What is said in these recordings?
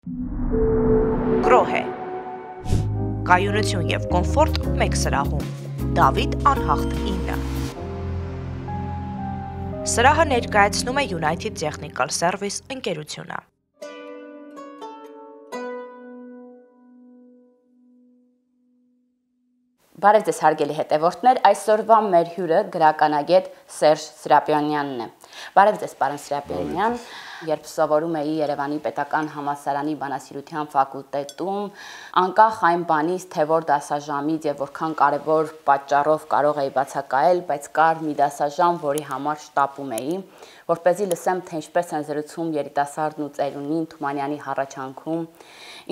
Գրոհ է։ Կայունություն և կոմֆորտ մեկ սրահում։ Դավիթ անհախտ 9։ Սրահը ներկայացնում է United Technical Service ընկերությունը։ Բարև ձեզ հարգելի հետևորդներ, այսօրվա մեր հյուրը գրականագետ Սերժ Սրապիոնյանն է։ Բարև ձեզ, պարոն Սրապիոնյան, երբ սովորում էի Երևանի Պետական համալսարանի բանասիրության ֆակուլտետում, անկախ այն բանից, թե որ դասաժամից եւ որքան կարևոր պատճառով կարող էի բացակայել, բայց կար մի դասաժամ, որի համար շտապում էի, որպեսզի լսեմ, թե ինչպես են զրուցում երիտասարդն ու ծերունին Թումանյանի հառաչանքում,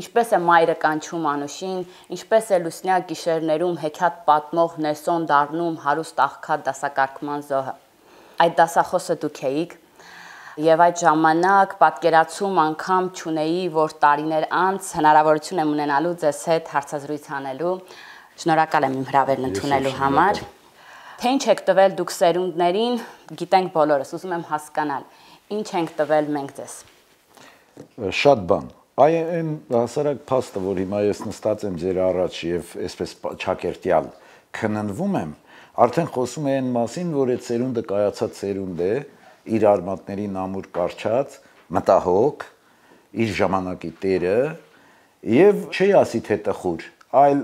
ինչպես է մայրը կանչում Անուշին, ինչպես է լուսնյակ գիշերներում հեքիաթ պատմող Նեսոն դառնում հարուստ աղքատ դասակարգման զոհը։ Այդ դասախոսը դուք էիք, եւ այդ ժամանակ պատկերացում անգամ չունեի, որ տարիներ անց հնարավորություն եմ ունենալու ձեզ հետ հարցազրույց անելու։ Շնորհակալ եմ իմ հրավերն ընդունելու համար։ Թե ինչ եք տվել դուք սերունդներին, գիտենք բոլորս, ուզում եմ հասկանալ, ինչ ենք տվել մենք ձեզ։ Շատ բան։ Այն հասարակ փաստը, որ հիմա ես նստած եմ ձեր առաջ եւ այսպես ճակերտյալ քննվում եմ, արդեն խոսում է այն մասին, որ այդ սերունդը կայացած սերունդ է, իր արմատներին ամուր կարճած, մտահոգ, իր ժամանակի տերը եւ չի ասի թե տխուր, այլ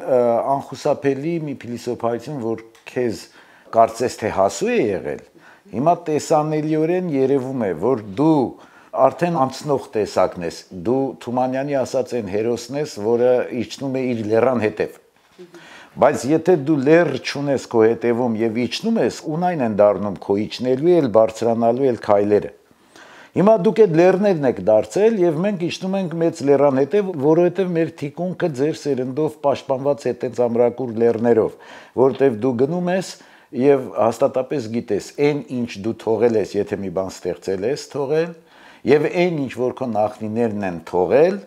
անխուսափելի մի փիլիսոփայություն, որ քեզ կարծես թե հասու է եղել, հիմա տեսանելիորեն երևում է, որ դու արդեն անցնող տեսակն ես, դու Թումանյանի ասած այն հերոսն ես, որը իջնում է իր լեռան հետև, բայց եթե դու լեռ չունես քո հետևում եւ իջնում ես, ունայն են դառնում քո իջնելու էլ բարձրանալու էլ քայլերը։ Հիմա դուք այդ լեռներն եք դարձել եւ մենք իջնում ենք մեծ լեռան հետև, որովհետեւ մեր թիկունքը ձեր սերնդով պաշտպանված է այդպես ամրակուր լեռներով, որովհետեւ դու գնում ես եւ հաստատապես գիտես, այն ինչ դու թողել ես, եթե մի բան ստեղծել ես, թողել, եւ այն ինչ որ քո նախնիներն են թողել,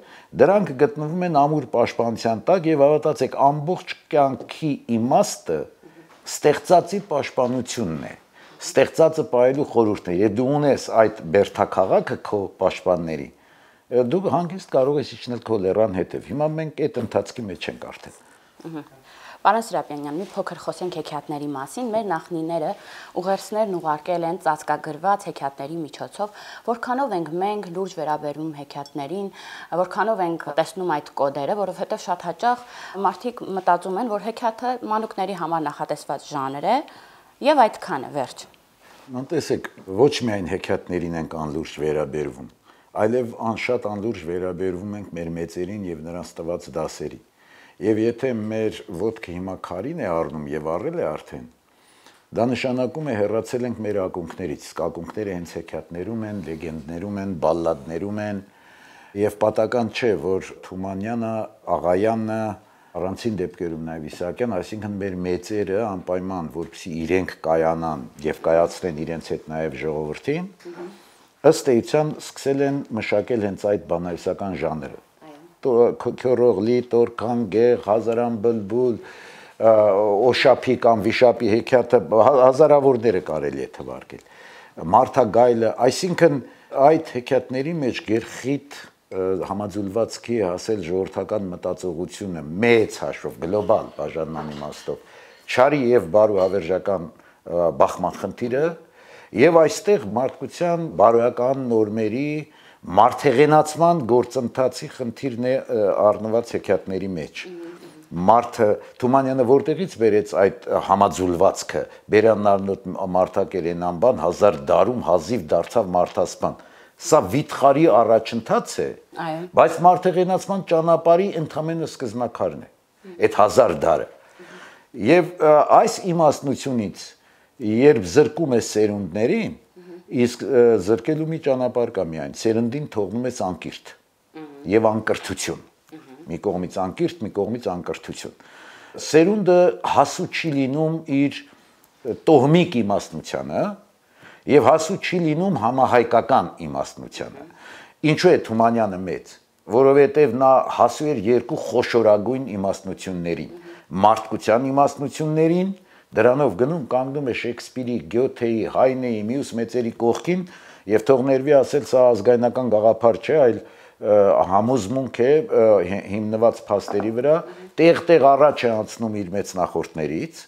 դրանք գտնվում են ամուր պաշտպանության տակ եւ հավատացեք, ամբողջ կյանքի իմաստը ստեղծածի պաշտպանությունն է, ստեղծածը պահելու խորհուրդն է։ Եթե դու ունես այդ բերդաքաղաքը քո պաշտպանների, դու հանգիստ կարող ես իջնել քո լեռան հետև։ Հիմա մենք այդ ընթացքի մեջ ենք արդեն։ Պարոն Սրապիոնյան, մի փոքր խոսենք հեքիաթների մասին։ Մեր նախնիները ուղերձներն ուղարկել են ծածկագրված հեքիաթների միջոցով, որքանով ենք մենք լուրջ վերաբերում հեքիաթներին, որքանով ենք տեսնում այդ կոդերը, որովհետև շատ հաճախ մարդիկ մտածում են, որ հեքիաթը մանուկների համար նախատեսված ժանր է, եւ այդքան է, վերջ։ Տեսեք, ոչ միայն հեքիաթներին ենք անլուրջ վերաբերվում, այլև անշատ անլուրջ վերաբերվում ենք մեր մեծերին եւ նրանց տված դասերին։ Եվ եթե մեր ոտքը հիմա քարին է առնում եւ առել է արդեն, դա նշանակում է հեռացել ենք մեր ակունքներից, իսկ ակունքները հենց հեքիաթներում են, լեգենդներում են, բալլադներում են, եւ պատական չէ, որ Թումանյանը, Աղայանը, առանցին դեպքերում նաեւ Իսահակյան, այսինքն մեր մեծերը անպայման, որպեսզի իրենք կայանան եւ կայացնեն իրենց հետ նաեւ ժողովրդին, ըստ էության սկսել են մշակել հենց այդ բանահյուսական ժանրը։ Քյորողլի, Տորքան, Գեղ, Հազարան բլբուլ, Օշափի կամ Վիշապի հեքիաթը հազարավորները կարելի է թվարկել։ Մարդագայլը, այսինքն այդ հեքիաթների մեջ գերխիտ համաձուլվածքի հասել ժողովրդական մտածողությունը մեծ հաշվով, գլոբալ բաժանման իմաստով, չարի եւ բարու հավերժական բախման խնդիրը եւ այստեղ մարդկության բարոյական նորմերի մարդեղենացման գործընթացի խնդիրն է առնված հեքիաթների մեջ։ Մարդը Թումանյանը որտեղից բերեց այդ համաձուլվածքը, Բերաննարնոտ մարդակեր են անբան 1000 դարում հազիվ դարձավ մարդասպան։ Սա վիթխարի առաջընթաց է, բայց մարդեղենացման ճանապարհի ընդհանրապես սկզբնաքարն է, այդ 1000 դարը։ Եվ այս իմաստնությունից, երբ զրկում է սերունդներին, իսկ զրկելու մի ճանապարհ կա միայն, սերնդին թողնում ես անկիրթ եւ անկրթություն։ Մի կողմից անկիրթ, մի կողմից անկրթություն։ Սերունդը հասու չի լինում իր տոհմիկ իմաստնությանը եւ հասու չի լինում համահայկական իմաստնությանը։ Ինչու է Թումանյանը մեծ, որովհետեւ նա հասու էր երկու խոշորագույն իմաստնություններին, մարդկության իմաստնություններին, դրանով գնում կանգնում է Շեքսպիրի, Գյոթեի, Հայնեի, մյուս մեծերի կողքին եւ թող ներվի ասել, սա ազգայնական գաղափար չէ, այլ համոզմունք է հիմնված փաստերի վրա, տեղ-տեղ առաջ է անցնում իր մեծ նախորդներից,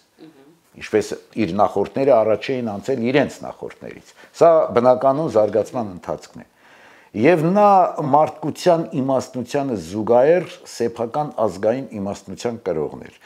ինչպես իր նախորդները առաջ էին անցել իրենց նախորդներից։ Սա բնականon զարգացման ընթացքն է։ Եվ նա մարդկության իմաստնությանը զուգահեռ սեփական ազգային իմաստնության կրողն էր։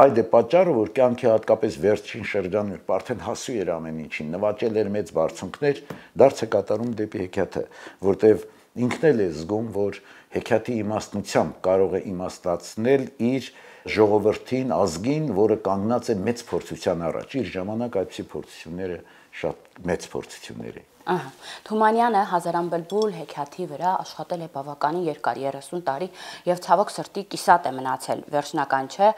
Այդ է պատճառը, որ կյանքի հատկապես վերջին շրջանում արդեն հասու էր ամեն ինչին, նվաճել էր մեծ բարձունքներ, դարձ է կատարում դեպի հեքիաթը, որտեղ ինքն էլ է զգում, որ հեքիաթի իմաստնությամբ կարող է իմաստացնել իր ժողովրդին, ազգին, որը կանգնած է մեծ փորձության առաջ։ Իր ժամանակ այդպիսի փորձությունները շատ մեծ փորձություններ են։ Թումանյանը Հազարամբլբուլ հեքիաթի վրա աշխատել է բավականին երկար 30 տարի եւ ցավոք սրտի կիսատ է մնացել, վերջնական չէ։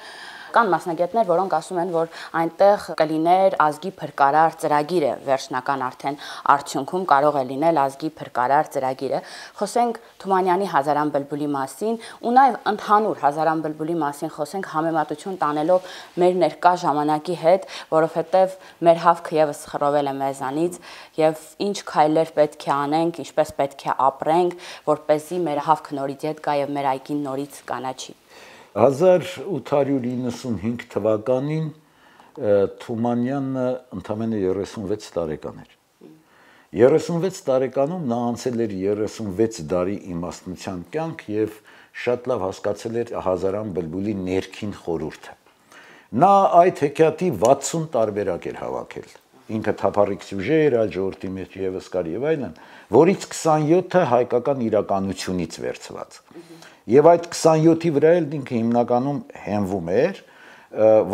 Կան մասնագետներ, որոնք ասում են, որ այնտեղ կլիներ ազգի փրկարար ծրագիրը, վերջնական արդեն արդյունքում կարող է լինել ազգի փրկարար ծրագիրը։ Խոսենք Թումանյանի Հազարամբլբուլի մասին ու նաեւ ընդհանուր Հազարամբլբուլի մասին խոսենք համեմատություն տանելով մեր ներկա ժամանակի հետ, որովհետեւ մեր հավքը եւս խռովել է մեզանից եւ ինչ քայլեր պետք է անենք, ինչպես պետք է ապրենք, որպեսզի մեր հավքը նորից հետ գա եւ մեր այգին նորից կանաչի։ 1895 թվականին Թումանյանը ընդամենը 36 տարեկան էր։ 36 տարեկանում նա անցել էր 36 դարի իմաստնության կյանք եւ շատ լավ հասկացել էր Հազարամբլբուլի ներքին խորհուրդը։ Նա այդ հեքիաթի 60 տարբերակ էր հավաքել։ Ինքը թափառիկ սյուժե էր, այդ ժողովրդի մեջ եւս կար եւ այլն, որից 27-ը հայկական իրականությունից վերցված։ Եվ այդ 27-ի վրա էլ ինքը հիմնականում հենվում էր,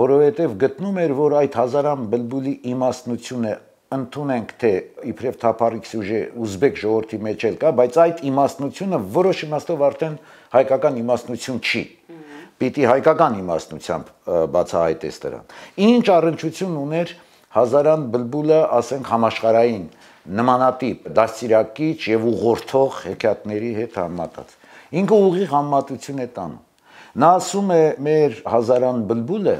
որովհետեւ գտնում էր, որ այդ Հազարամբլբուլի իմաստնությունը ընդունենք թե իբրև թափառիկ սյուժե ուզբեկ ժողովրդի մեջ էլ կա, բայց այդ իմաստնությունը որոշ իմաստով արդեն հայկական իմաստնություն չի։ Պիտի հայկական իմաստնությամբ բացահայտես դրան։ Ինչ առնչություն ուներ Հազարամբլբուլը, ասենք, համաշխարհային նմանատիպ դաստիարակիչ եւ ուղղորդող հեքիաթների հետ համեմատած։ Ինքը ուղիղ համեմատություն է տանում։ Նա ասում է, մեր Հազարամբլբուլը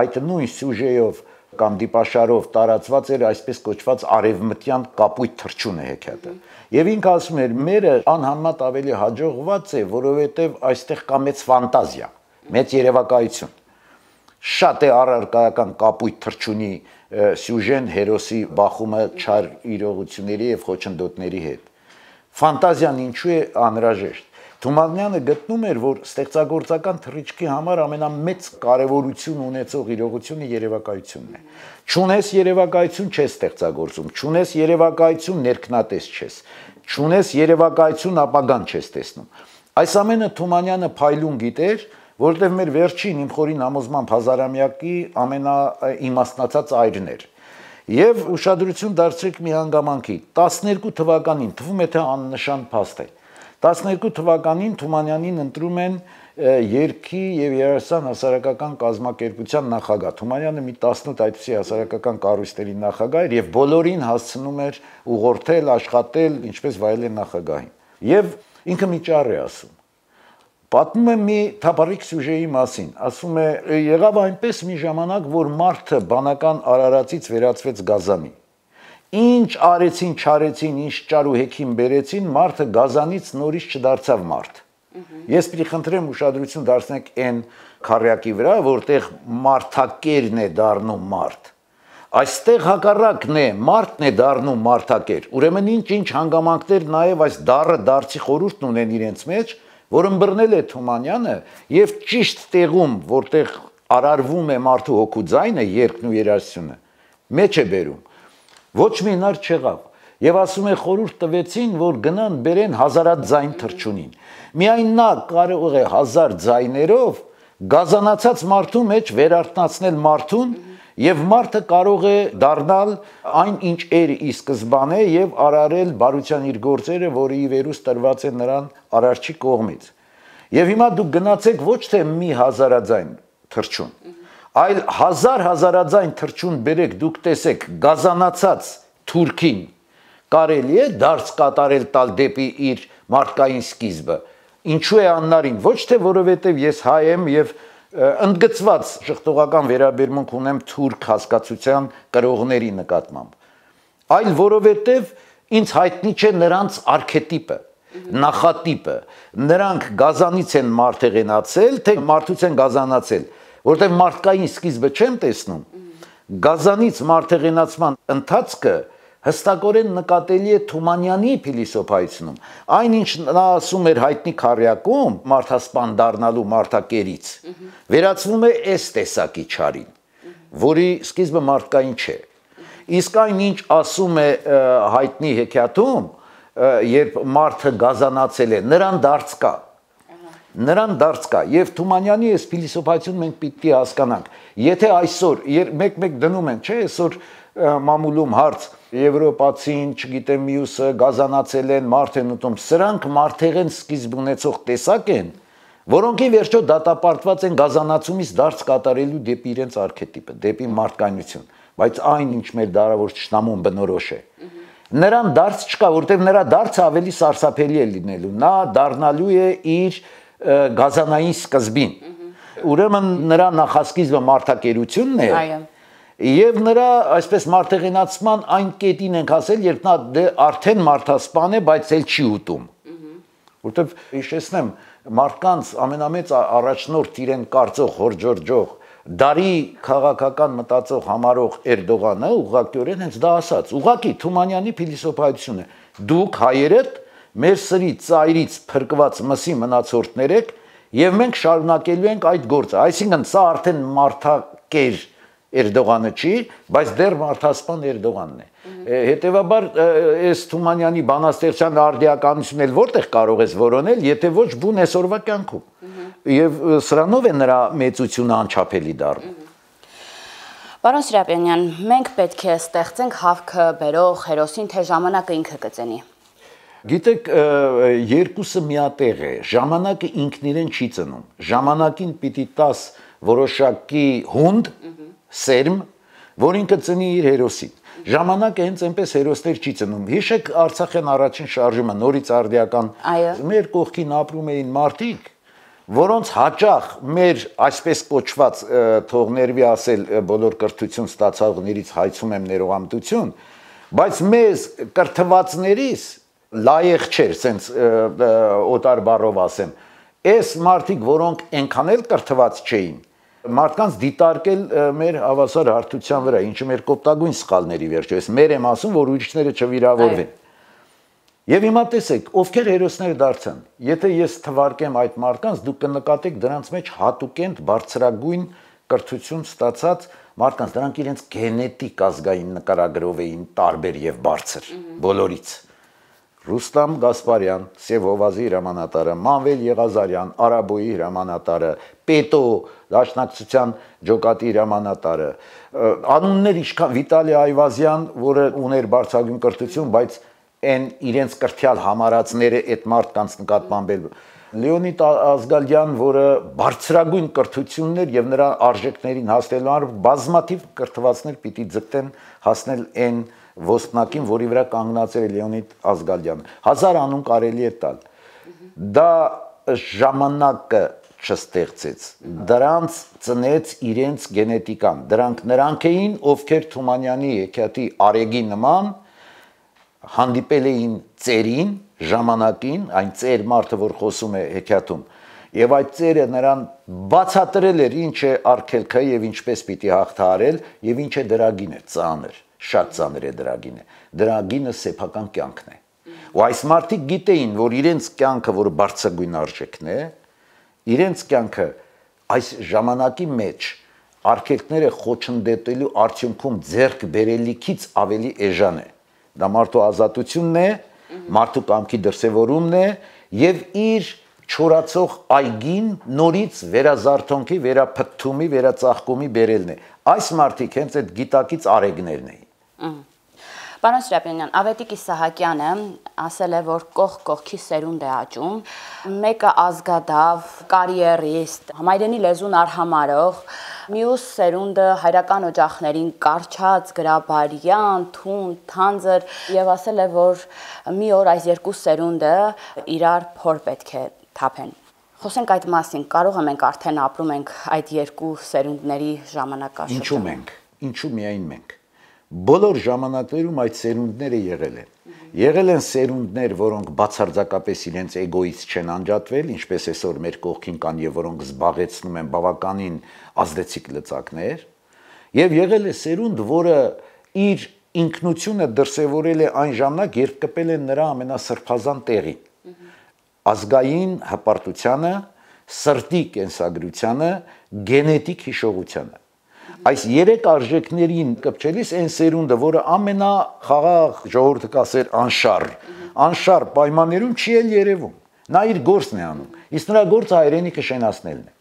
այդ նույն սյուժեով կամ դիպաշարով տարածված էր այսպես կոչված արևմտյան կապույտ թռչունը հեքիաթը։ Եվ ինքը ասում էր, մերը անհամեմատ ավելի հաջողված է, որովհետեւ այստեղ կա մեծ ֆանտազիա, մեծ երևակայություն։ Շատ է առարկայական կապույտ թռչունի սյուժեն, հերոսի բախումը չար իրողությունների եւ խոչընդոտների հետ։ Ֆանտազիան ինչու է անհրաժեշտ։ Թումանյանը գտնում էր, որ ստեղծագործական թռիչքի համար ամենամեծ կարևորություն ունեցող իրողությունը երևակայությունն է։ Չունես երևակայություն չես ստեղծագործում, չունես երևակայություն ներքնատես չես, չունես երևակայություն ապագան չես տեսնում։ Այս ամենը Թումանյանը փայլուն գիտեր, որտեղ մեր վերջին իմ խորին համոզմամբ հազարամյակի ամենաիմաստնացած այրն էր։ Եվ ուշադրություն դարձրեք մի հանգամանքի, 12 թվականին, թվում է թե աննշան փաստ է, 12 թվականին Թումանյանին ընտրում են Երգի եւ Երասան հասարակական կազմակերպության նախագահ։ Թումանյանը մի 18 այդպիսի հասարակական կառույցների նախագահ էր եւ բոլորին հասցնում էր ուղղորդել, աշխատել, ինչպես վայելել նախագահին։ Եվ ինքը մի ճառ է ասում։ Պատմում է մի թափառիկ սյուժեի մասին, ասում է, եղավ այնպես մի ժամանակ, որ մարդը բանական արարածից վերածվեց գազանի։ Ինչ արեցին, չարեցին, ինչ ճար ու հեքիմ բերեցին, մարդը գազանից նորից չդարձավ մարդ։ Ես պիտի խնդրեմ ուշադրություն դարձնեք այն քառյակի վրա, որտեղ մարդակերն է դառնում մարդ։ Այստեղ հակառակն է, մարդն է դառնում մարդակեր։ Ուրեմն ինչ հանգամանքներ նաև այս դառը դարձի խորհուրդն ունեն իրենց մեջ, որ ըմբռնել է Թումանյանը եւ ճիշտ տեղում, որտեղ արարվում է մարդու հոգու ձայնը, երգն ու երաժշտությունը, մեջ է բերում։ Ոչ մի հնար չեղավ։ Եվ ասում է խորհուրդ տվեցին, որ գնան բերեն հազարաձայն թռչունին։ Միայն նա կարող է 1000 ձայներով գազանացած մարդու մեջ վերարթնացնել մարդուն եւ մարդը կարող է դառնալ այն ինչ էր ի սկզբանե եւ արարել բարության իր գործերը, որը ի վերուս տրված է նրան արարչի կողմից։ Եվ հիմա դուք գնացեք ոչ թե մի հազարաձայն թռչուն, այլ 1000 հազարաձայն թռչուն բերեք, դուք տեսեք գազանացած թուրքին կարելի է դարձ կատարել տալ դեպի իր մարդկային սկիզբը։ Ինչու է աննարին, ոչ թե որովհետեւ ես հայ եմ եւ ընդգծված շղթողական վերաբերմունք ունեմ թուրք հասկացության կրողների նկատմամբ, այլ որովհետև ինձ հայտնի չէ նրանց արքետիպը։ նախատիպը, նրանք գազանից են մարտեղենացել, թե մարդուց են գազանացել, որտեղ մարդկային սկիզբը չեմ տեսնում, գազանից մարտեղենացման ընթացքը հստակորեն նկատելի է Թումանյանի փիլիսոփայությունում, այնինչ նա ասում էր հայտնի քառյակում մարդասպան դառնալու մարդակերից, վերածվում է այս տեսակի չարին, որի սկիզբը մարդկային չէ, իսկ այնինչ ասում է հայտնի հեքիաթում, երբ մարդը գազանացել է, նրան դարձ կա, եւ Թումանյանի այս փիլիսոփայությունը մենք պիտի հասկանանք, եթե այսօր մեկ դնում են, չէ, այսօր մամուլում հարց Եվրոպացին, չգիտեմ մյուսը գազանացել են, մարդ են ուտում, սրանք մարդեղեն սկիզբ ունեցող տեսակ են, որոնք ի վերջո դատապարտված են գազանացումից դարձ կատարելու դեպի իրենց արքետիպը, դեպի մարդկայնություն, բայց այն ինչ մեր դարավոր ճշտամուն բնորոշ է։ Նրան դարձ չկա, որտեղ նրա դարձը ավելի սարսափելի է լինելու, նա դառնալու է իր գազանային սկզբին։ Ուրեմն նրա նախասկիզբը մարդակերությունն է։ Այո։ Եվ նրա այսպես մարտեղենացման այն կետին ենք ասել, երբ նա արդեն մարդասպան է, բայց էլ չի ուտում։ Որտեվ հիշեցնեմ, մարդկանց ամենամեծ առաջնորդ իրեն կարծող, հորջորջող, դարի քաղաքական մտածող համարող Էրդողանը ուղղակիորեն հենց դա ասաց, ուղղակի Թումանյանի փիլիսոփայությունը է։ Դուք հայերդ մեր սրից, ծայրից փրկված մսի մնացորդներ եք, եւ մենք շարունակելու ենք այդ գործը։ Այսինքն սա արդեն մարդակեր Էրդողանը չի, բայց դեռ մարդասպան Էրդողանն է։ Հետևաբար այս Թումանյանի բանաստեղծության արդիականությունն էլ որտեղ կարող ես որոնել, եթե ոչ բուն այսօրվա կյանքում։ Եվ սրանով է նրա մեծությունը անչափելի դառնում։ Պարոն Սրապյանյան, մենք պետք է ստեղծենք հավքը բերող հերոսին, թե ժամանակը ինքը կծենի։ Գիտեք, երկուսը միատեղ է, ժամանակը ինքն իրեն չի ծնում, ժամանակին պիտի տաս որոշակի հունդ, սերմ, որին կծնի իր հերոսին։ Ժամանակը հենց այնպես հերոսներ չի ծնում։ Հիշեք Արցախյան առաջին շարժումը, նորից արդիական, մեր կողքին ապրում էին մարդիկ, որոնց հաճախ մեր այսպես կոչված թողներվի ասել բոլոր կրթություն ստացողներից հայցում եմ ներողամտություն, բայց մեզ կրթվածներից լայեղ չէր, սենց օտար բառով ասեմ, այս մարդիկ, որոնք այնքան էլ կրթված չէին, մարդկանց դիտարկել մեր հավասար հարթության վրա, ինչը մեր կոպտագույն սխալների վերջո, ես մեր եմ ասում, որ ուրիշները չվիրավորվեն։ Եվ հիմա տեսեք, ովքեր հերոսներ դարձան, եթե ես թվարկեմ այդ մարդկանց, դուք կնկատեք դրանց մեջ հատուկենտ բարձրագույն կրթություն ստացած մարդկանց, դրանք իրենց գենետիկ ազգային նկարագրով էին տարբեր եւ բարձր, բոլորից։ Ռուստամ Գասպարյան, Սևովազի հրամանատարը, Մանվել Եղազարյան, Արաբոյի հրամանատարը, Պետո, Դաշնակցության ջոկատի հրամանատարը, անուններ ինչքան Վիտալի Այվազյան, որը ուներ բարձրագույն կրթություն, բայց այն իրենց կրթյալ համարածները այդ մարդկանց նկատմամբ էլ Լեոնիդ Ազգալյան, որը բարձրագույն կրթություններ եւ նրա արժեքներին հասնելու համար բազմաթիվ կրթվածներ պիտի ձգտեն հասնել այն ոսպնակին, որի վրա կանգնացել է Լեոնիդ Ազգալյանը։ 1000 անուն կարելի է տալ։ Դա ժամանակը չստեղծեց, դրանց ծնեց իրենց գենետիկան, նրանք էին, ովքեր Թումանյանի հեքիաթի արեգի նման հանդիպել էին ծերին, ժամանակին, այն ծեր մարդը, որ խոսում է հեքիաթում, եւ այդ ծերը նրան բացատրել էր ինչ է արգելքը եւ ինչպես պիտի հաղթահարել եւ ինչ է դրա գինը, ծանր, շատ ծանր է դրա գինը, դրա գինը սեփական կյանքն է։ Ու այս մարդիկ գիտեին, որ իրենց կյանքը, որ բարձրագույն արժեքն է, իրենց կյանքը այս ժամանակի մեջ արգելքները խոչընդոտելու արդյունքում ձեռք բերելիքից ավելի էժան է։ Դա մարդու ազատությունն է, մարդու կամքի դրսևորումն է եւ իր չորացող այգին նորից վերազարթոնքի, վերափթթումի, վերածաղկումի բերելն է։ Այս մարդիկ հենց այդ գիտակից արեգներն էին։ Պարոն Սրապյանյան, Ավետիք Իսահակյանը ասել է, որ կողք կողքի սերունդ է աճում, մեկը ազգադավ, կարիերիստ, համայրենի լեզուն արհամարող, մյուս սերունդը հայրական օջախներին կարճած, գրաբարյան, թուն, թանձր, եւ ասել է, որ մի օր այս երկու սերունդը իրար փոր պետք է թափեն։ Խոսենք այդ մասին, կարող ենք արդեն ապրում ենք այդ երկու սերունդների ժամանակաշրջանում։ Ինչու մենք, ինչու միայն մենք, Բոլոր ժամանակներում այդ սերունդները եղել են։ Եղել են սերունդներ, որոնք բացարձակապես իրենց էգոից չեն անջատվել, ինչպես այսօր մեր կողքին կան եւ որոնք զբաղեցնում են բավականին ազդեցիկ լծակներ, եւ եղել է սերունդ, որը իր ինքնությունը դրսևորել է այն ժամանակ, երբ կպել են նրա ամենասրբազան տեղին։ Ազգային հպարտությանը, սրտի կենսագրությանը, գենետիկ հիշողությանը։ Այս երեք արժեքներին կպչելիս այն սերունդը, որը ամենախաղաղ ժողովուրդը կասեր անշար պայմաններում չի էլ երևում։ Նա իր գործն է անում, իսկ նրա գործը հայրենիքը շենացնելն է։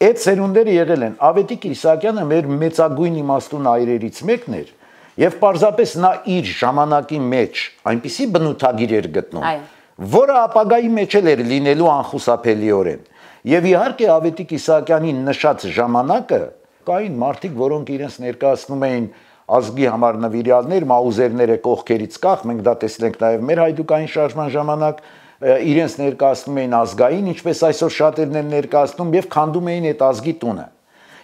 Այդ սերունդները եղել են Ավետիք Իսահակյանը մեր մեծագույն իմաստուն այրերից մեկն էր, եւ պարզապես նա իր ժամանակի մեջ այնպիսի բնութագիր էր գտնում, որը ապագայի մեջ էր լինելու անխուսափելիորեն։ Եվ իհարկե Ավետիք Իսահակյանի նշած ժամանակը կային մարդիկ, որոնք իրենց ներկայացնում էին ազգի համար նվիրյալներ, մաուզերները կողքերից կախ, մենք դա տեսել ենք նաև մեր հայդուկային շարժման ժամանակ, իրենց ներկայացնում էին ազգային, ինչպես այսօր շատերն են ներկայացնում եւ քանդում էին այդ ազգի տունը։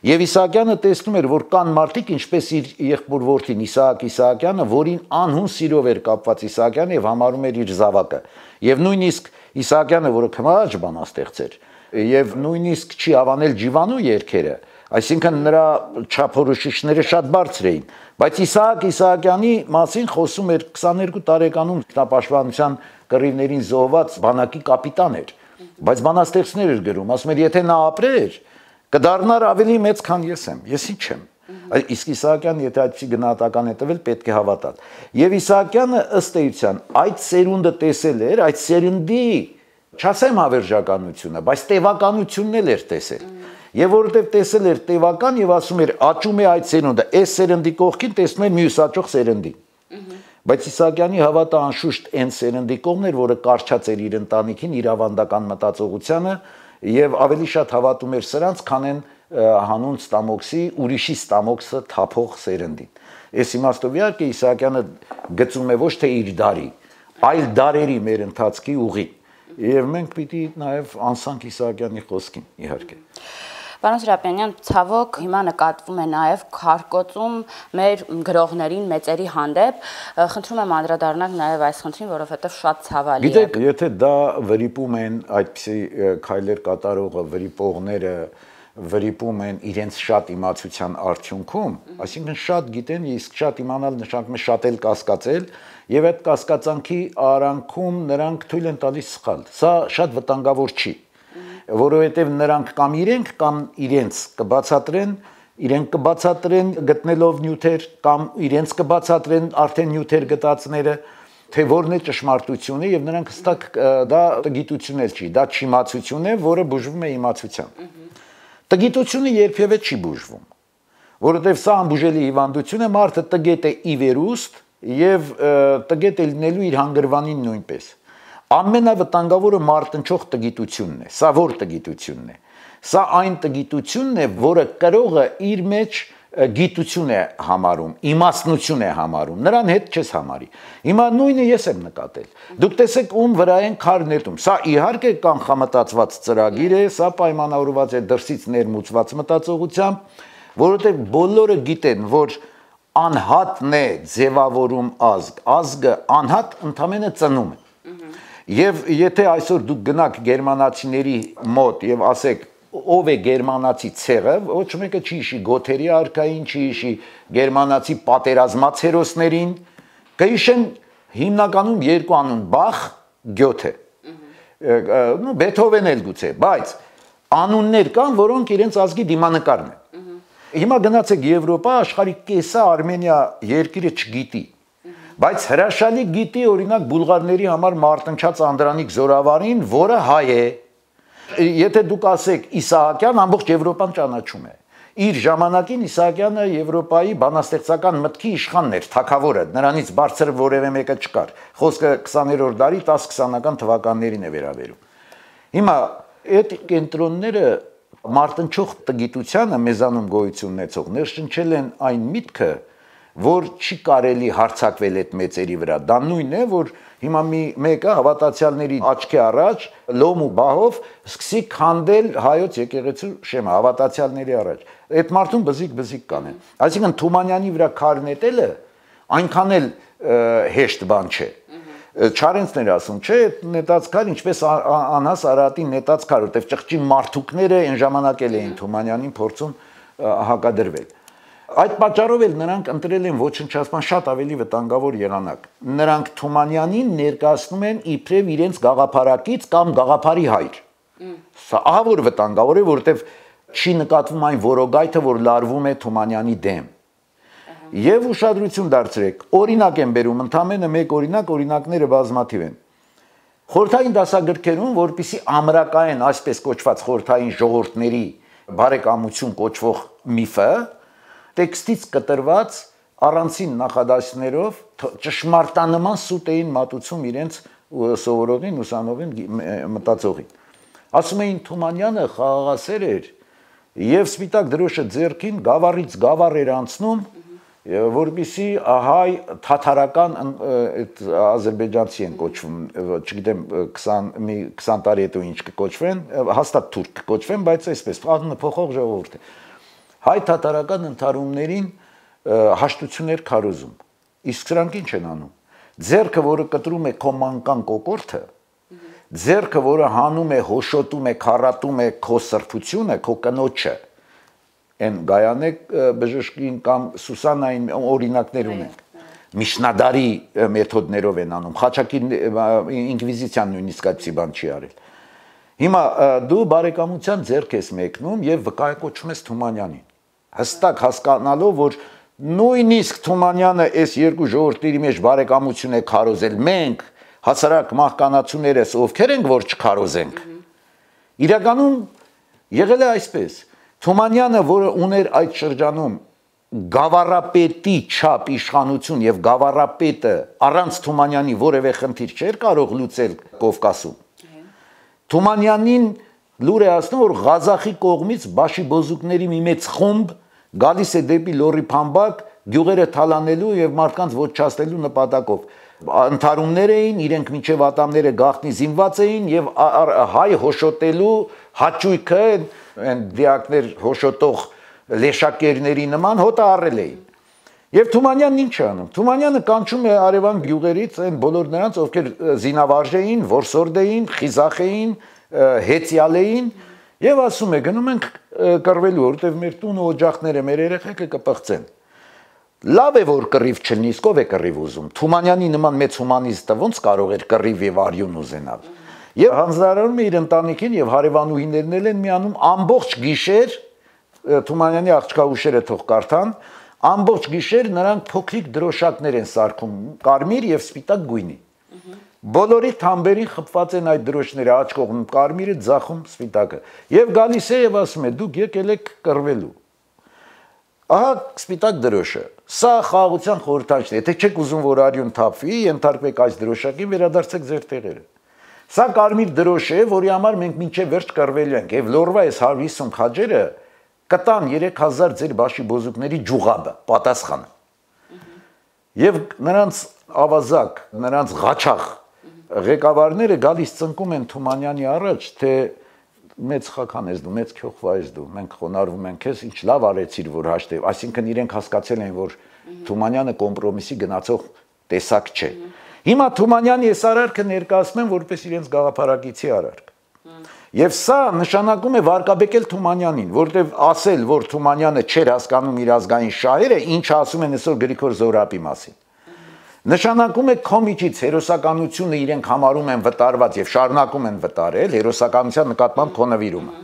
Եվ Իսահակյանը տեսնում էր, որ կան մարդիկ, ինչպես իր եղբոր որդին Իսահակ Իսահակյանը, որին անհուն սիրով էր կապված Իսահակյանը եւ համարում էր իր զավակը։ Եվ նույնիսկ Իսահակյանը, որը քմահաճ բանաստեղծ էր, եւ նույնիսկ չի հավանել Ջիվանու երգերը, այսինքն նրա չափորոշիչները շատ բարձր էին, բայց Իսահակ Իսահակյանի մասին խոսում էր 22 տարեկանում ինքնապաշտպանության կռիվներին զոհված բանակի կապիտան էր, բայց բանաստեղծներ էր գրում, ասում էր, եթե նա ապրեր, կդառնար ավելի մեծ, քան ես եմ, ես ինչ եմ։ Իսկ Իսահակյանը, եթե այդպիսի գնահատական է տվել, պետք է հավատալ։ Եվ Իսահակյանը ըստ էության այդ սերունդը տեսել էր, այդ սերնդի, չասեմ հավերժականությունը, բայց տևականությունն էլ էր տեսել։ Եվ որովհետև տեսել էր տևական եւ ասում էր աճում է այդ սերունդը, այս սերնդի կողքին տեսնում էր մյուս աճող սերնդին։ Բայց Իսահակյանի հավատը անշուշտ այն սերնդի կողմն էր, որը կարճած էր իր ընտանիքին, իր ավանդական մտածողությանը եւ ավելի շատ հավատում էր սրանց, քան այն հանուն ստամոքսի, ուրիշի ստամոքսը թափող սերնդին։ Այս իմաստով իհարկե Իսահակյանը գծում է ոչ թե իր դարի, այլ դարերի մեր ընթացքի ուղի։ Եվ մենք պիտի նաեւ անսանք Իսահակյանի խոսքին, իհարկե։ Պարոն Սրապյանյան, ցավոք հիմա նկատվում է նաև քարկոծում մեր գրողներին, մեծերի հանդեպ, խնդրում եմ անդրադառնալ նաև այս խնդրին, որովհետև շատ ցավալի է։ Գիտեք, եթե դա վրիպում են այդպիսի քայլեր կատարողը, վրիպողները վրիպում են իրենց շատ իմացության արդյունքում, այսինքն շատ գիտեն, իսկ շատ իմանալ նշանակում է շատ էլ կասկածել, եւ այդ կասկածանքի արանքում նրանք թույլ են տալիս սխալ։ Սա շատ վտանգավոր չի, որովհետև նրանք կամ իրենց կբացատրեն, իրենք կբացատրեն գտնելով նյութեր կամ իրենց կբացատրեն արդեն նյութեր գտածները, թե որն է ճշմարտությունը եւ նրանք հստակ դա տգիտություն էլ չի, դա չիմացություն է, որը բուժվում է իմացությամբ։ Տգիտությունը երբևէ չի բուժվում, որովհետև սա անբուժելի հիվանդություն է, մարդը տգետ է ի վերուստ եւ տգետ է լինելու իր հանգրվանին նույնպես։ Ամենավտանգավորը մարտնչող տգիտությունն է, սա որ տգիտությունն է։ Սա այն տգիտությունն է, որը կրողը իր մեջ գիտություն է համարում, իմաստնություն է համարում, նրան հետ չես համարի։ Հիմա նույնը ես եմ նկատել։ Դուք տեսեք ում վրա են քարն նետում։ Սա իհարկե կանխամտածված ծրագիր է, սա պայմանավորված է դրսից ներմուծված մտածողությամբ, որովհետև բոլորը գիտեն, որ անհատն է ձևավորում ազգ, ազգը անհատ ընդամենը ծնում է։ Եվ եթե այսօր դուք գնաք գերմանացիների մոտ եւ ասեք ով է գերմանացի ցեղը, ոչ մեկը չի հիշի Գոթերի արքային, չի հիշի գերմանացի պատերազմած հերոսներին, կհիշեն հիմնականում երկու անուն՝ Բախ, Գյոթե, Բեթհովեն էլ գուցե, բայց անուններ կան, որոնք իրենց ազգի դիմանկարն են։ Հիմա գնացեք Եվրոպա, աշխարհի կեսը Արմենիա երկիրը չգիտի, բայց հրաշալի գիտի օրինակ բուլղարների համար մարտնչած Անդրանիկ Զորավարին, որը հայ է։ Եթե դուք ասեք Իսահակյան, ամբողջ Եվրոպան ճանաչում է։ Իր ժամանակին Իսահակյանը Եվրոպայի բանաստեղծական մտքի իշխանն էր, թագավորը, նրանից բարձր որևէ մեկը չկար։ Խոսքը 20-րդ դարի 10-20-ական թվականներին է վերաբերում։ Հիմա այդ կենտրոնները մարտնչող տգիտությանը մեզանում գոյություն ունեցող ներշնչել են այն միտքը, որ չի կարելի հարձակվել այդ մեծերի վրա։ Դա նույնն է, որ հիմա մեկը հավատացյալների աչքի առաջ լոմ ու բահով սկսի քանդել հայոց եկեղեցու շեմը հավատացյալների առաջ։ Այդ մարդուն բզիկ կանեն։ Այսինքն Թումանյանի վրա քար նետելը այնքան էլ հեշտ բան չէ։ Չարենցներ ասում, չէ, նետած քար, ինչպես անհաս Արարատի նետած քար, որտեղ ճղճի մարդուկները այն ժամանակ էլ էին Թումանյանին փորձում հակադրվել։ Այդ պատճառով էլ նրանք ընտրել են ոչնչացման շատ ավելի վտանգավոր եղանակ։ Նրանք Թումանյանին ներկայացնում են իբրև իրենց գաղափարակից կամ գաղափարի հայր։ Սա ահա որ վտանգավոր է, որովհետև չի նկատվում այն որոգայթը, որ լարվում է Թումանյանի դեմ։ Եվ ուշադրություն դարձրեք, օրինակ եմ բերում, ընդամենը մեկ օրինակ, օրինակները բազմաթիվ են։ Խորհրդային դասագրքերում, որպիսի ամրակային, այսպես կոչված խորհրդային ժողովուրդների բարեկամություն կոչվող միֆը, տեքստից կտրված առանցին նախադասներով ճշմարտանման սուտ էին մատուցում իրենց սովորողին, ուսանողին, մտածողին։ Ասում էին Թումանյանը խաղաղասեր էր եւ սպիտակ դրոշը ձեռքին գավառից գավառ էր անցնում, որպիսի հայ թաթարական այդ ազերբայջանցի են կոչվում, չգիտեմ 20 տարի հետո ինչ կկոչվեն, հաստատ թուրք կկոչվեն, բայց այսպես անունը փոխող ժողովուրդ է։ Հայ թաթարական ընթարումներին հաշտություններ քարոզում։ Իսկ սրանք ինչ են անում։ Ձեռքը, որը կտրում է քո մանկան կոկորտը, ձեռքը, որը հանում է, հոշոտում է, քարատում է քո սրբությունը, քո կնոջը, այն Գայանե բժշկին կամ Սուսանային օրինակներ ունենք։ Միշնադարի մեթոդներով են անում, Խաչակի ինկվիզիցիան նույնիսկ այդպիսի բան չի արել։ Հիմա դու բարեկամության ձեռք ես մեկնում եւ վկայակոչում ես Թումանյանին, հստակ հասկանալով, որ նույնիսկ Թումանյանը այս երկու ժողովրդների մեջ բարեկամություն է քարոզել, մենք հասարակ մահկանացուներս ովքեր ենք, որ չքարոզենք։ Իրականում եղել է այսպես։ Թումանյանը, որը ուներ այդ շրջանում գավառապետի չափ իշխանություն եւ գավառապետը առանց Թումանյանի որևէ խնդիր չէր կարող լուծել Կովկասում։ Թումանյանին լուր է ասնում, որ Ղազախի կողմից բաշիբոզուկների մի մեծ խումբ գալիս է դեպի Լոռի Փամբակ գյուղերը թալանելու եւ մարդկանց ոչնչացնելու նպատակով։ Ընթարումներ էին, իրենք մինչև ատամները գաղտնի զինված էին եւ հայ հոշոտելու հաճույքը այն դիակներ հոշոտող լեշակերների նման հոտը առել էին։ Եվ Թումանյանն ինչ է անում։ Թումանյանը կանչում է արևան գյուղերից այն բոլոր նրանց, ովքեր զինավարժ էին, որսորդ էին, խիզախ էին, հեծյալ էին, եւ ասում է գնում ենք կռվելու, որովհետեւ մեր տունը օջախները, մեր երեխեքը կպղծեն։ Լավ է որ կռիվ չլինի, ով է կռիվ ուզում։ Թումանյանի նման մեծ հումանիստը ոնց կարող էր կռիվ եւ արյուն ուզենալ։ Եվ հանձնարարում է իր ընտանիքին եւ հարևանուհիներն են միանում ամբողջ գիշեր Թումանյանի աղջկաուշերը թող կարդան, ամբողջ գիշեր նրանք փոքրիկ դրոշակներ են սարքում, կարմիր եւ սպիտակ գույնի։ Բոլորի թամբերին խփված են այդ դրոշները, աջ կողմում կարմիրը, ձախում սպիտակը։ Եվ գալիս է եւ ասում է՝ դուք եկել եք կռվելու։ Ահա սպիտակ դրոշը։ Սա խաղաղության խորհրդանիշն է։ Եթե չեք ուզում, որ արյուն թափվի, ենթարկվեք այս դրոշակին, վերադարձեք ձեր տեղերը։ Սա կարմիր դրոշ է, որի համար մենք մինչև վերջ կռվելու ենք, եւ Լոռվա այս 150 քաջերը կտան 3000 ձեր բաշիբոզուկների ջուղաբը, պատասխանը։ Եվ նրանց ավազակ, նրանց ղաչախ ղեկավարները գալիս ծնկում են Թումանյանի առաջ, թե մեծ խախան ես դու, մեծ քյոխվա ես դու, մենք խոնարհվում ենք քեզ, ինչ լավ արեցիր, որ հաշտեւ, այսինքն իրենք հասկացել են, որ Թումանյանը կոմպրոմիսի գնացող տեսակ չէ։ Հիմա Թումանյանի այս արարքը ներկայացնում են որպես իրենց գաղափարակիցի արարք։ Եվ սա նշանակում է վարկաբեկել Թումանյանին, որտեղ ասել, որ Թումանյանը չէր հասկանում իր ազգային շահերը, ինչը ասում են այսօր Գրիգոր Զոհրաբի մասին։ Նշանակում է քո միջից հերոսականությունը իրենք համարում են վտարված եւ շարունակում են վտարել հերոսականության նկատմամբ քո նվիրումը։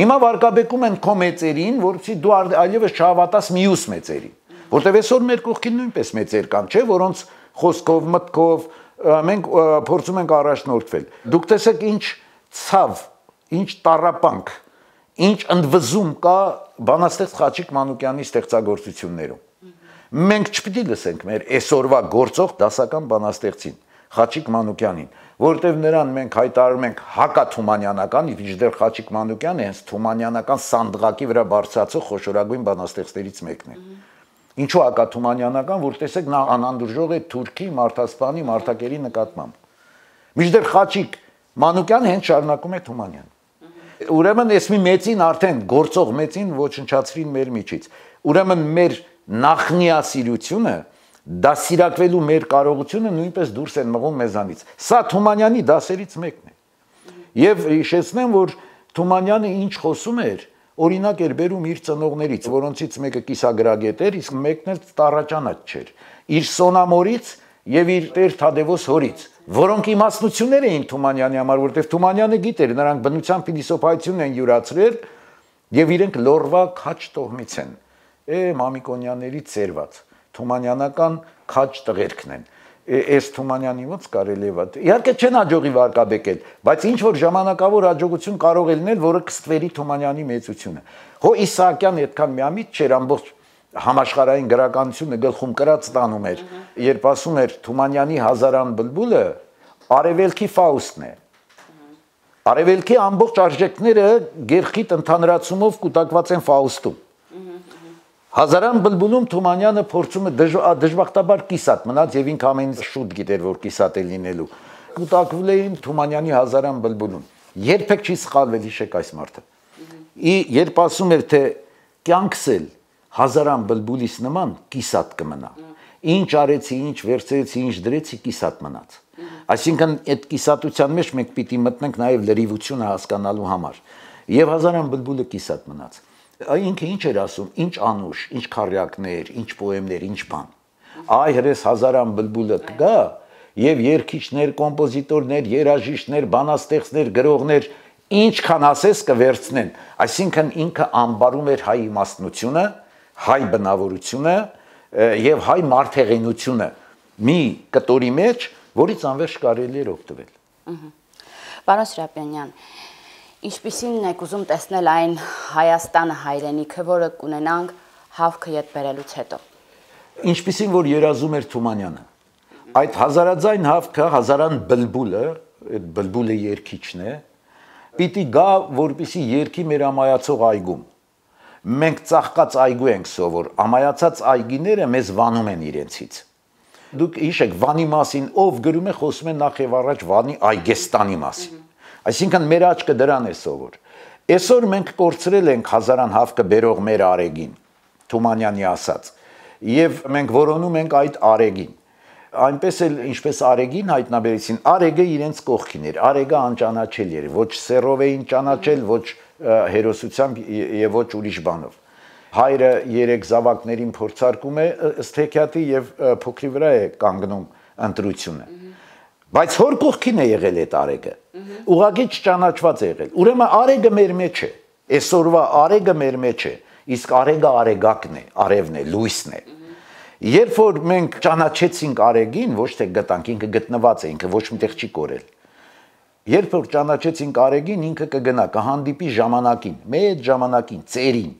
Հիմա վարկաբեկում են քո մեծերին, որովհետեւ դու այլևս չհավատաս մյուս մեծերին, որտեղ այսօր մեր կողքին նույնպես մեծեր կան, չէ, որոնց խոսքով, մտքով մենք փորձում ենք առաջնորդվել։ Դուք տեսեք ինչ ցավ, ինչ տառապանք, ինչ ընդվզում կա բանաստեղծ Խաչիկ Մանուկյանի ստեղծագործություններում։ Մենք չպիտի լսենք մեր այսօրվա գործող դասական բանաստեղծին, Խաչիկ Մանուկյանին, որովհետև նրան մենք հայտարարում ենք հակաթումանյանական, իդեր Խաչիկ Մանուկյանը հենց թումանյանական սանդղակի վրա բարձրացող խոշորագույն բանաստեղծներից մեկն է։ Ինչու հակաթումանյանական, որ տեսեք նա անանդուրժող է թուրքի, մարդասպանի, մարդակերի նկատմամբ։ Մինչդեռ Խաչիկ Մանուկյանը հենց շարունակում է Թումանյան։ Ուրեմն այս մի մեծին արդեն գործող մեծին ոչնչացրին մեր միջից։ Ուրեմն մեր նախնիասիրությունը դասիրակվելու մեր կարողությունը նույնպես դուրս են մղում մեզանից։ Սա Թումանյանի դասերից մեկն է։ Եվ հիշեցնեմ, որ Թումանյանը ինչ խոսում էր, օրինակ էր բերում իր ծնողներից, որոնցից մեկը կիսագրագետ էր, իսկ մեկն էլ տարաճանաչ չէր։ Իր Սոնամորից եւ իր Տեր Թադևոս հորից, որոնք իմաստնություններ էին Թումանյանի համար, որովհետեւ Թումանյանը գիտեր, նրանք բնության փիլիսոփայությունն են յուրացրել եւ իրենք լորվա քաչ տոհմից են։ Մամիկոնյանների ծերված Թումանյանական քաչ տղերքն են։ Այս Թումանյանի ոնց կարելի է վատ։ Իհարկե չեն հաջողի վարկաբեկել, բայց ինչ որ ժամանակավոր հաջողություն կարող է լինել, որը կստվերի Թումանյանի մեծությունը։ Հո Իսահակյան այդքան միամիտ չէր, ամբողջ համաշխարհային գրականությունը գլխում կրած տանում էր, երբ ասում էր Թումանյանի հազարան բլբուլը արևելքի Ֆաուստն է։ Արևելքի ամբողջ արժեքները գերխիտ ընդհանրացումով կուտակված են Ֆաուստում։ Հազարան բլբուլում Թումանյանը փորձում է դժբախտաբար կիսատ մնաց եւ ինքը ամենից շուտ գիտեր, որ կիսատ է լինելու։ Կուտակվել էին Թումանյանի հազարան բլբուլում։ Երբեք չի սխալվել, հիշեք այս մարդը։ Երբ ասում էր, թե կյանքս էլ հազարան բլբուլից նման կիսատ կմնա։ Ինչ արեցի, ինչ վերցրեցի, ինչ դրեցի, կիսատ մնաց։ Այսինքն այդ կիսատության մեջ մենք պիտի մտնենք նաեւ լրիվությունը հասկանալու համար։ Եվ հազարան բլբուլը կիսատ մնաց։ Ինքը ինչ էր ասում, ինչ անուշ, ինչ քարյակներ, ինչ պոեմներ, ինչ բան։ Այ հրես հազարան բլբուլը կգա եւ երգիչներ, կոմպոզիտորներ, երաժիշտներ, բանաստեղծներ, գրողներ ինչքան ասես կվերցնեն։ Այսինքն ինքը անբարում էր հայ իմաստնությունը, հայ բնավորությունը եւ հայ մարդեղենությունը մի կտորի մեջ, որից անվերջ կարելի էր օգտվել։ Պարոն Սրապյանյան, ինչպիսին եք ուզում տեսնել այն Հայաստանը հայրենիքը, որը կունենանք հավքը ետ բերելուց հետո։ Ինչպիսին որ երազում էր Թումանյանը։ Այդ հազարաձայն հավքը, հազարան բլբուլը, այդ բլբուլը երգիչն է, պիտի գա, որպեսի երգի մեր ամայացող այգում։ Մենք ծաղկած այգու ենք սովոր, ամայացած այգիները մեզ վանում են իրենցից։ Դուք հիշեք, Վանի մասին ով գրում է, խոսում է նախ եւ առաջ Վանի Այգեստանի մասին։ Այսինքն մեր աչքը դրան է սովոր։ Այսօր մենք կորցրել ենք հազարան հավքը բերող մեր արեգին, Թումանյանի ասած, եւ մենք որոնում ենք այդ արեգին։ Այնպես էլ ինչպես արեգին հայտնաբերեցին, արեգը իրենց կողքին էր, արեգը անճանաչելի էր, ոչ սերով էին ճանաչել, ոչ հերոսությամբ եւ ոչ ուրիշ բանով։ Հայրը 3 զավակներին փորձարկում է ըստ հեքիաթի եւ փոքրի վրա է կանգնում ընտրությունը։ Բայց հոր կողքին է եղել այդ արեգը։ Ուղղակի չճանաչված է եղել։ Ուրեմն արեգը մեր մեջ է։ Այսօրվա արեգը մեր մեջ է, իսկ արեգը արեգակն է, արևն է, լույսն է։ Երբ որ մենք ճանաչեցինք արեգին, ոչ թե գտանք, ինքը գտնված է, ինքը ոչ միտեղ չի կորել։ Երբ որ ճանաչեցինք արեգին, ինքը կգնա, կհանդիպի ժամանակին, մեծ ժամանակին, ծերին,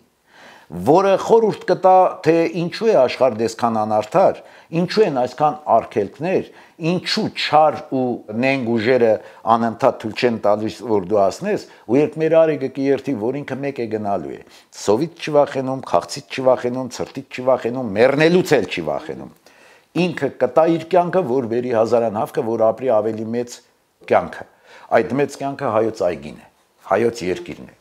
որը խորհուրդ կտա, թե ինչու է աշխարհը այսքան անարդար, ինչու են այսքան արգելքներ, ինչու չար ու նենգ ուժերը անընդհատ թույլ չեն տալիս, որ դու ասնես, ու երբ մեր արեգը կերթի, որ ինքը մեկ է գնալու է, սովից չվախենում, խաղցից չվախենում, ցրտից չվախենում, մեռնելուց էլ չի վախենում։ Ինքը կտա իր կյանքը, որ բերի հազարան հավքը, որ ապրի ավելի մեծ կյանքը։ Այդ մեծ կյանքը հայոց այգին է, հայոց երկիրն է։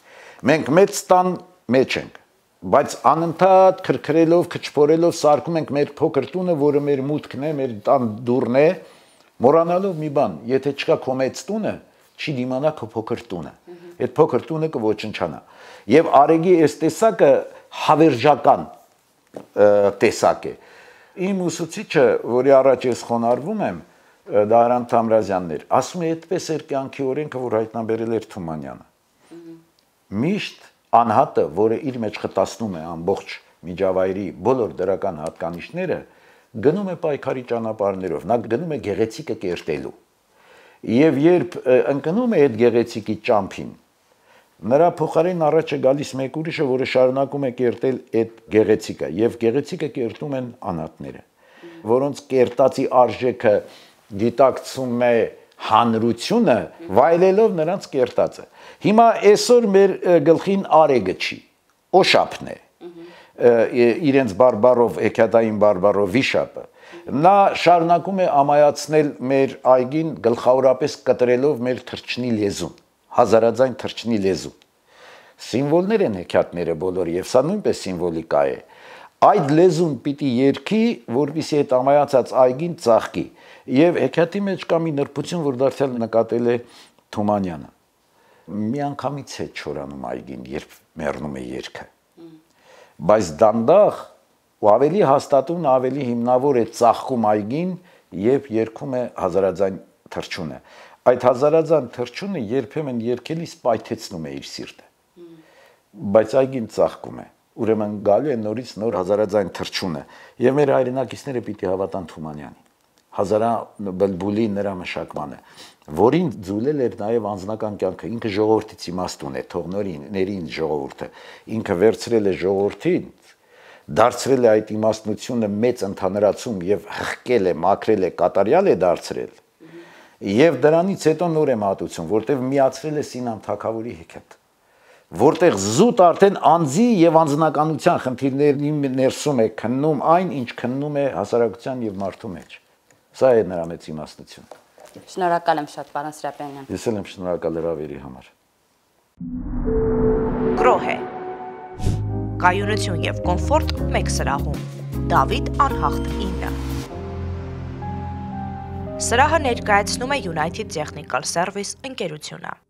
Մենք մեծ տան մեջ ենք, բայց անընդհատ քրքրելով, քչփորելով սարքում ենք մեր փոքր տունը, որը մեր մուտքն է, մեր տան դուռն է, մոռանալով մի բան, եթե չկա քո մեծ տունը, չի դիմանա քո փոքր տունը։ Այդ փոքր տունը կոչնչանա։ Եվ արեգի այս տեսակը հավերժական տեսակ է։ Իմ ուսուցիչը, որի առաջ ես խոնարհվում եմ, Դահրամ Թամրազյանն էր, ասում է, այդպես էր կյանքի օրենքը, որ հայտնաբերել էր Թումանյանը։ Միշտ անհատը, որը իր մեջ խտացնում է ամբողջ միջավայրի բոլոր դրական հատկանիշները, գնում է պայքարի ճանապարհներով, նա գնում է գեղեցիկը կերտելու։ Եվ երբ ընկնում է այդ գեղեցիկի ճամփին, նրա փոխարեն առաջ է գալիս մեկ ուրիշը, որը շարունակում է կերտել այդ գեղեցիկը, եւ գեղեցիկը կերտում են անհատները, որոնց կերտածի արժեքը դիտակցում է հանրությունը, վայելելով նրանց կերտածը։ Հիմա այսօր մեր գլխին արեգը չի, օշապն է, իրենց բարբարով, հեքիաթային բարբարով վիշապը։ Նա շարունակում է ամայացնել մեր այգին, գլխավորապես կտրելով մեր թռչնի լեզուն, հազարաձայն թռչնի լեզուն։ Սիմվոլներ են հեքիաթները բոլորը, եւ սա նույնպես սիմվոլիկա է։ Այդ լեզուն պիտի երգի, որպեսզի այդ ամայացած այգին ծաղկի։ Եվ հեքիաթի մեջ կա մի նրբություն, որ դարձյալ նկատել է Թումանյանը։ Մի անգամից է չորանում այգին, երբ մեռնում է երգը։ Բայց դանդաղ ու ավելի հաստատուն, ավելի հիմնավոր է ծաղկում այգին, երբ երգում է հազարաձայն թռչունը։ Այդ հազարաձայն թռչունը երբեմն երգելիս պայթեցնում է իր սիրտը։ Բայց այգին ծաղկում է։ Ուրեմն գալու է նորից նոր հազարաձայն թռչունը, եւ մեր հայրենակիցները պիտի հավատան Թումանյանին։ Հազարա բլբուլի նրա մշակմանը, որին ձուլել էր նաև անձնական կյանքը, ինքը ժողովրդից իմաստուն է, թողնորիներին ժողովուրդը, ինքը վերցրել է ժողովրդին, դարձրել է այդ իմաստնությունը մեծ ընդհանրացում եւ հղկել է, մաքրել է, կատարյալ է դարձրել։ Եվ դրանից հետո նոր է մատուցում, որտեղ միացրել է Սինան թագավորի հեքիաթ, որտեղ զուտ արդեն անձի եւ անձնականության խնդիրների ներսում է քննում այն, ինչ քննում է հասարակության եւ մարդու մեջ։ Սա է նրա մեծ իմաստությունը։ Շնորհակալ եմ շատ, պարոն Սրապյանյան։ Ես էլ եմ շնորհակալ հրավերի համար։ Գրոհե։ Կայունություն եւ կոմֆորտ մեկ սրահում։ Դավիթ Անհախտ 9։ Սրահը ներկայացնում է United Technical Service ընկերությունը։